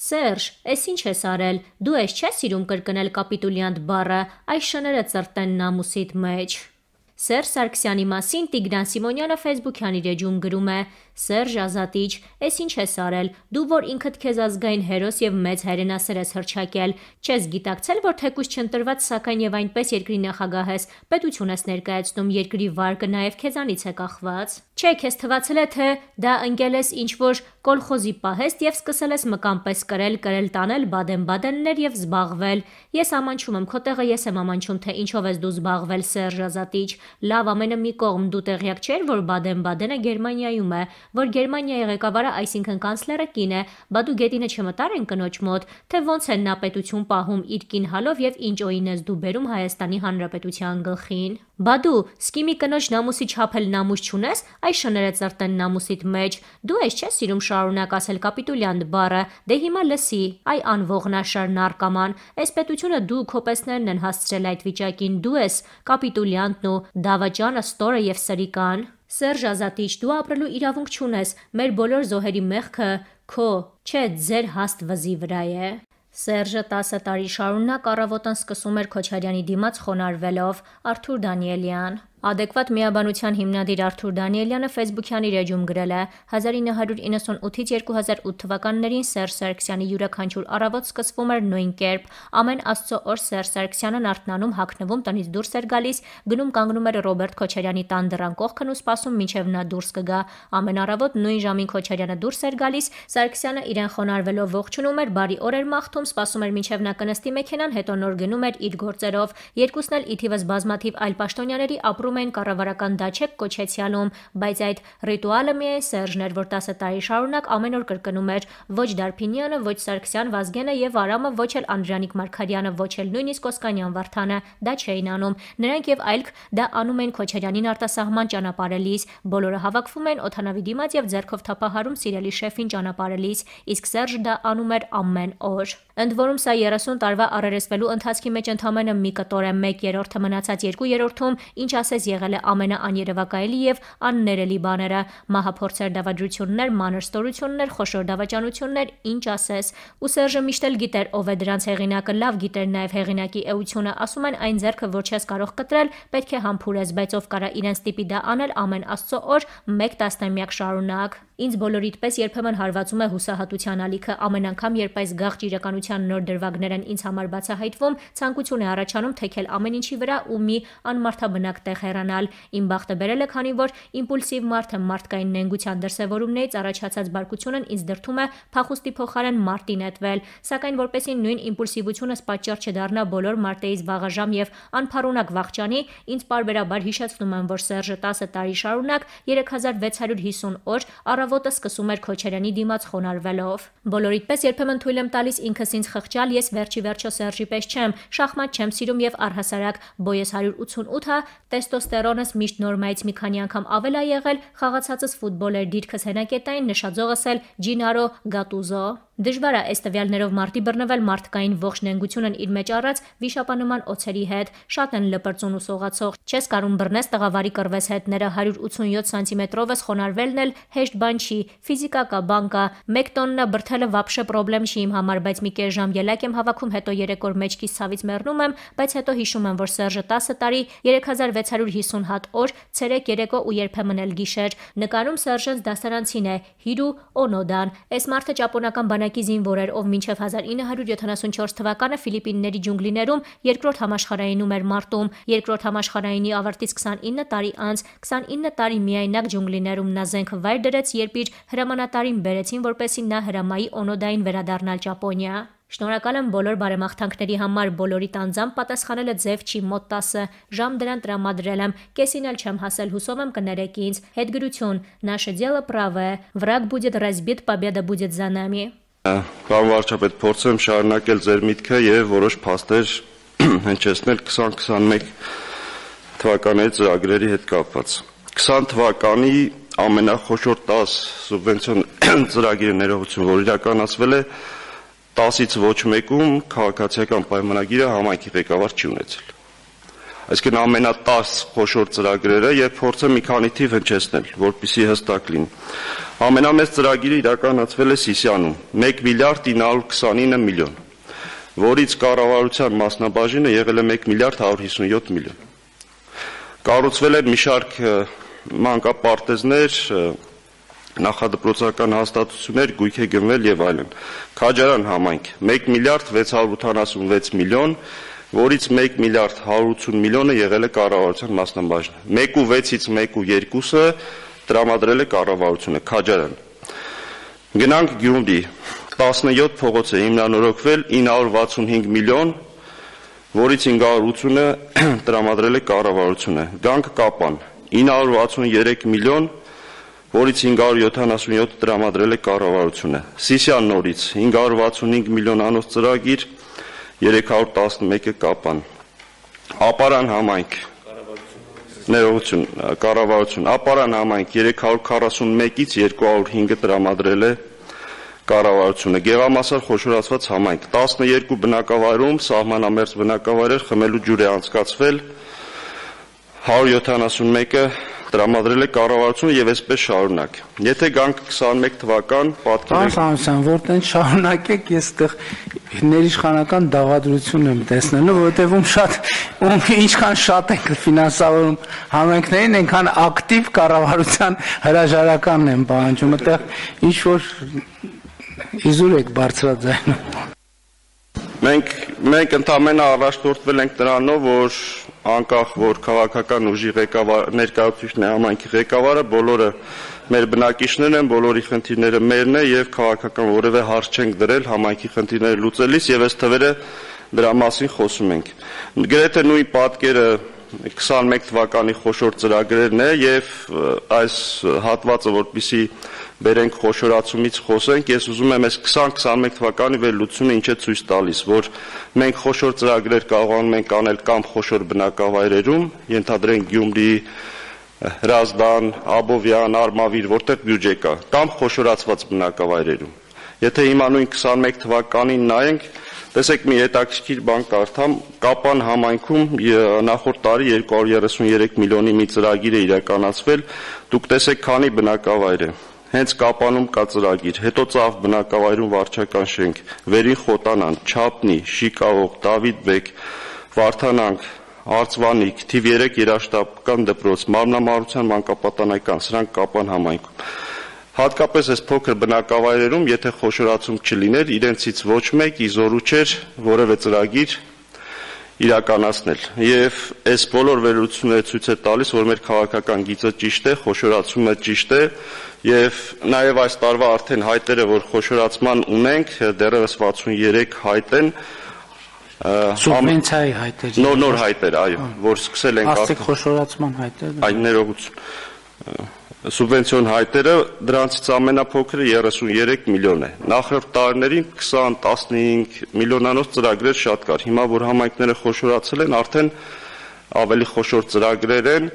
Սերժ, էս ինչ ես արել, դու ես չես սիրում կրկնել կապիտուլյանտ բառը, այս շները ծրտեն նամուսիդ մեջ։ Սերժ Սարգսյանի մասին Տիգրան Սիմոնյանը Facebook-յան իր էջում գրում է. Սերժ Ազատիչ, էս ինչ ես արել, դու որ ինքդ քեզ ազգային հերոս եւ մեծ հայրենասեր ես հռչակել, չես գիտակցել, որ թեկուզ չընտրված, սակայն եւ այնպես երկրի նախագահ ես, պետություն ես ներկայացնում, երկրի վարկը նաեւ քեզանից է կախված։ Չէ, քեզ թվացել է, թե դա ընկել ես ինչ-որ կոլխոզի պահեստ եւ սկսել ես մկան պես կրել տանել բադեն-բադեններ եւ զբաղվել։ Ես ամանչում եմ, քո տեղը ես եմ ամանչում, թե ինչով ես դու զբաղվել, Սերժ Ազատիչ։ Լավ, ամենը մի կողմ, դու տեղյակ չեր, որ Բադեն-Բադենը Գերմանիայում է, որ Գերմանիայի ղեկավարը, այսինքն կանցլերը կին է, բա դու գետինը չմտար են կնոջ մոտ, թե ոնց են նա պետություն պահում իր կին հալով եւ ինչ օին ես դու բերում Հայաստանի Հանրապետության գլխին։ Բա դու սկիմի կնոջ նամուսի չափել նամուս չունես, այս շները ծրտեն նամուսիդ մեջ, դու ես չես սիրում շարունակ ասել կապիտուլյանտ բառը, դե հիմա լսի, այ անողնաշար նարկաման, այս պետությունը դու քո պեսներն են հասցրել այդ վիճակին, դու ես կապիտուլյանտն ու դավաճանը, ստորը եւ սրիկան։ Սերժ Ազատիչ, դու ապրելու իրավունք չունես, մեր բոլոր զոհերի մեղքը քո, չէ, ձեր հաստ վզի վրա է։ Սերժը 10 տարի շարունակ առավոտն սկսում էր Քոչարյանի դիմաց խոնարհվելով, Արթուր Դանիելյան։ Adekvat միաբանության հիմնադիր Արթուր Դանիելյանը Facebook-յան իր էջում գրել է. 1998-ից 2008 թվականներին Սերժ Սարգսյանի յուրաքանչյուր առավոտ սկսվում էր նույն կերպ, ամեն Աստծո օր Սերժ Սարգսյանն արթնանում, հագնվում, տնից դուրս էր գալիս, գնում կանգնում էր Ռոբերտ Քոչարյանի տան դռան կողքն ու սպասում մինչև նա դուրս կգա, ամեն առավոտ նույն ժամին Քոչարյանը դուրս էր գալիս, Սարգսյանը իրեն խոնարհվելով ողջունում էր, բարի օր էր մաղթում, սպասում էր մինչև նա կնստի մեքենան, հետո նոր գնում էր իր գործերով, երկուսն էլ ի թիվս բազմաթիվ այլ պաշտոնյաների ապրում են կառավարական դաչեք կոչեցյալում, բայց այդ ռիտուալը միայն Սերժն էր, որ 10 տարի շարունակ ամեն օր կրկնում էր, ոչ Դարփինյանը, ոչ Սարգսյան Վազգենը եւ Արամը, ոչ էլ Անդրանիկ Մարգարյանը, ոչ էլ նույնիսկ Օսկանյան Վարդանը դա չէին անում։ Նրանք եւ այլք դա անում են Քոչարյանին արտասահման ճանապարհելիս, բոլորը հավաքվում են օթանավի դիմաց եւ ձեռքով թափահարում սիրելի շեֆին ճանապարհելիս, իսկ Սերժը դա անում էր ամեն օր։ Ընդ որում սա 30 տարվա առերեսվելու ընթացքի մեջ ընդամենը մի կտոր է 1/3-ը մնացած 2/3-ում, ինչ ասես եղել է ամենաաներևակայելի եւ աններելի բաները, մահափորձեր, դավադրություններ, մանր ստորություններ, խոշոր դավաճանություններ, ինչ ասես։ Ու Սերժը միշտ էլ գիտեր ով է դրանց հեղինակը, լավ գիտեր նաեւ հեղինակի էությունը, ասում են այն ձեռքը որ չես կարող կտրել, պետք է համբուրես, բայց ով կարա իրենց տիպի դա անել ամեն Աստծո օր 1 տասնամյակ շարունակ։ Ինձ բոլորիդ պես երբեմն հարվածում է հուսահատության ալիքը, ամեն անգամ երբ այս գաղճ իրականության նոր դրվագներ են ինձ համար բացահայտվում, ցանկություն է առաջանում թեքել ամեն ինչի վրա ու մի անմարդաբնակ տեղ հեռանալ։ Իմ բախտը բերել է, քանի որ իմպուլսիվ մարդը մարդկային նենգության դրսևորումներից առաջացած բարկությունն ինձ դրթում է փախուստի փոխարեն մարտի նետվել, սակայն որպեսզի նույն իմպուլսիվությունս պատճառ չդառնա բոլոր մարտերից վաղաժամ եւ անփառունակ վախճանի, ինձ պարբերաբար հիշեցնում եմ, որ Սերժը 10 տարի շարունակ 3650 օր առավոտը սկսում էր Քոչարյանի դիմաց խոնարհվելով։ Բոլորիդ պես երբեմն թույլ եմ տալիս ինքս ինձ խղճալ, ես վերջի վերջո Սերժի պես չեմ, շախմատ չեմ սիրում եւ առհասարակ բոյես 188-ը, տեստոստերոնս միշտ նորմայից մի քանի անգամ ավել է եղել, խաղացածս ֆուտբոլ էր, դիրքս հենակետային, նշաձողս էլ Ջինարո Գատուզո։ Դժվար է այս տվյալներով մարտի բռնվել մարդկային ողջ նենգությունն իր մեջ առած վիշապանման օձերի հետ, շատ են լպրծուն ու սողացող, չես կարում բռնես տղավարի կռվես հետները, 187 սանտիմետրով ես խոնարհվելն էլ հեշտ բան չի, ֆիզիկա կա, բան կա, 1 տոննա բրդելը վաբշե պրոբլեմ չի իմ համար, բայց մի կես ժամ ելակ եմ հավաքում, հետո 3 օր մեջքից ցավից մեռնում եմ, բայց հետո հիշում եմ, որ Սերժը 10 տարի 3650 հատ օր, ցերեկ, երեկո ու երբեմն էլ գիշեր, նկարում Սերժենց դասարանցին է, Հիրու Օնոդան, այս մարդը ճապոնական բանակի զինվոր էր, ով մինչև 1974 թվականը Ֆիլիպինների ջունգլիներում երկրորդ համաշխարհայինում էր մարտում, երկրորդ համաշխարհայինի ավարտից 29 տարի անց, 29 տարի միայնակ ջունգլիներում նա զենք վայր դրեց, երբ իր հրամանատարին բերեցին, որպեսզի նա հրամայի Օնոդային վերադառնալ Ճապոնիա։ Շնորհակալ եմ բոլոր բարեմաղթանքների համար, բոլորիդ անձամբ պատասխանելը ձև չի, մոտ 10 ժամ դրան տրամադրել եմ, կեսին էլ չեմ հասել, հուսով եմ կներեք ինձ, հետգրություն, наше дело правое, враг будет разбит, победа будет за нами։ Պարոն վարչապետ, փորձեմ շարունակել ձեր միտքը եւ որոշ փաստեր հնչեցնել 2021 թվականի ծրագրերի հետ կապված։ 20 թվականի ամենախոշոր 10 սուբվենցիոն ծրագրի ներողություն, որ իրականացվել է 10-ից ոչ մեկում քաղաքացիական պայմանագիրը համայնքի ղեկավար չի ունեցել։ այսինքն ամենատաս խոշոր ծրագրերը եւ փորձեմ մի քանի թիվ հնչեցնել, որպեսզի հստակ լինի։ Ամենամեծ ծրագիրը իրականացվել է Սիսիանում 1 միլիարդ 929 միլիոն, որից կառավարության մասնաբաժինը եղել է 1 միլիարդ 157 միլիոն։ Կառուցվել է մի շարք մանկապարտեզներ, նախադպրոցական հաստատություններ, գույք է գնվել եւ այլն։ Քաջարան համայնք 1 միլիարդ 686 միլիոն, որից 1 միլիարդ 180 միլիոնը եղել է կառավարության մասնաբաժինը։ 1.6-ից 1.2-ը տրամադրել է կառավարությունը, Քաջարան։ Գնանք Գյումրի, 17 փողոց է հիմնանորոգվել 965 միլիոն, որից 580-ը տրամադրել է կառավարությունը։ Գանք Կապան, 963 միլիոն, որից 577 տրամադրել է կառավարությունը։ Սիսիան նորից 565 միլիոնանոց ծրագիր, 311-ը Կապան։ Ապարան համայնք, ներողություն, կառավարություն, Ապարան համայնք 341-ից 205-ը տրամադրել է կառավարությունը։ Գեղամասար խոշորացված համայնք 12 բնակավայրում սահմանամերձ բնակավայրեր խմելու ջուր է անցկացվել, 171-ը տրամադրել է կառավարությունը եւ այսպես շարունակ։ Եթե գանք 21 թվական, պատկերեք։ Պարոն, որտեն շարունակեք, ես այդտեղ ներիշխանական դավադրություն եմ տեսնելու, որովհետեւ ինչքան շատ ենք ֆինանսավորում համայնքներին, այնքան ակտիվ կառավարության հրաժարականն են պահանջում, այդտեղ ինչ որ իզուր եք բարձրաձայնում։ Մենք ընդամենը առաջնորդվել ենք նրանով, որ անկախ որ քաղաքական ուժի ներկայացուցիչն է համայնքի ղեկավարը, բոլորը մեր բնակիչներն են, բոլորի խնդիրները մերն է եւ քաղաքական որևէ հարց չենք դրել համայնքի խնդիրները լուծելիս եւ այս թվերը դրա մասին խոսում ենք։ Գրեթե նույն պատկերը 21 թվականի խոշոր ծրագրերն է եւ այս հատվածը որպեսի բերենք խոշորացումից խոսենք, ես ուզում եմ այս 2021 թվականի վերլուծությունը ինչ է ցույց տալիս, որ մենք խոշոր ծրագրեր կարողանում ենք անել կամ խոշոր բնակավայրերում, ենթադրենք Գյումրի, Հրազդան, Աբովյան, Արմավիր, որտեղ բյուջե կա, կամ խոշորացված բնակավայրերում։ Եթե հիմա նույն 21 թվականին նայենք, տեսեք մի հետաքրքիր բան կարդամ, Կապան համայնքում նախորդ տարի 233 միլիոնի մի ծրագիր է իրականացվել, դուք տեսեք քանի բնակավայր է։ Հենց Կապանում կա ծրագիր, հետո Ծավ բնակավայրում վարչական շենք, Վերին Խոտանան, Չապնի, Շիկավող, Դավիթբեկ, Վարդանանք, Արծվանիկ, թիվ 3 երաշտապական դպրոց, Մարմնամարության մանկապատանեկան, սրանք Կապան համայնքում։ Հատկապես այս փոքր բնակավայրերում, եթե խոշորացում չլիներ, իրենցից ոչ մեկ իզորու չէր որևէ ծրագիր իրականացնել։ Եվ այս բոլոր վերլուծությունները ցույց է տալիս, որ մեր քաղաքական գիծը ճիշտ է, խոշորացումը ճիշտ է, եւ նաեւ այս տարվա արդեն հայտերը, որ խոշորացման ունենք, դեռևս 63 հայտ են, սուբվենցիայի հայտեր։ Նոր հայտեր, այո, որ սկսել ենք Աստիկ խոշորացման հայտեր։ Այն ներողություն։ Սուբվենցիոն հայտերը, դրանցից ամենափոքրը 33 միլիոն է։ Նախորդ տարիներին 20-15 միլիոնանոց ծրագրեր շատ կար։ Հիմա որ համայնքները խոշորացել են, արդեն ավելի խոշոր ծրագրեր են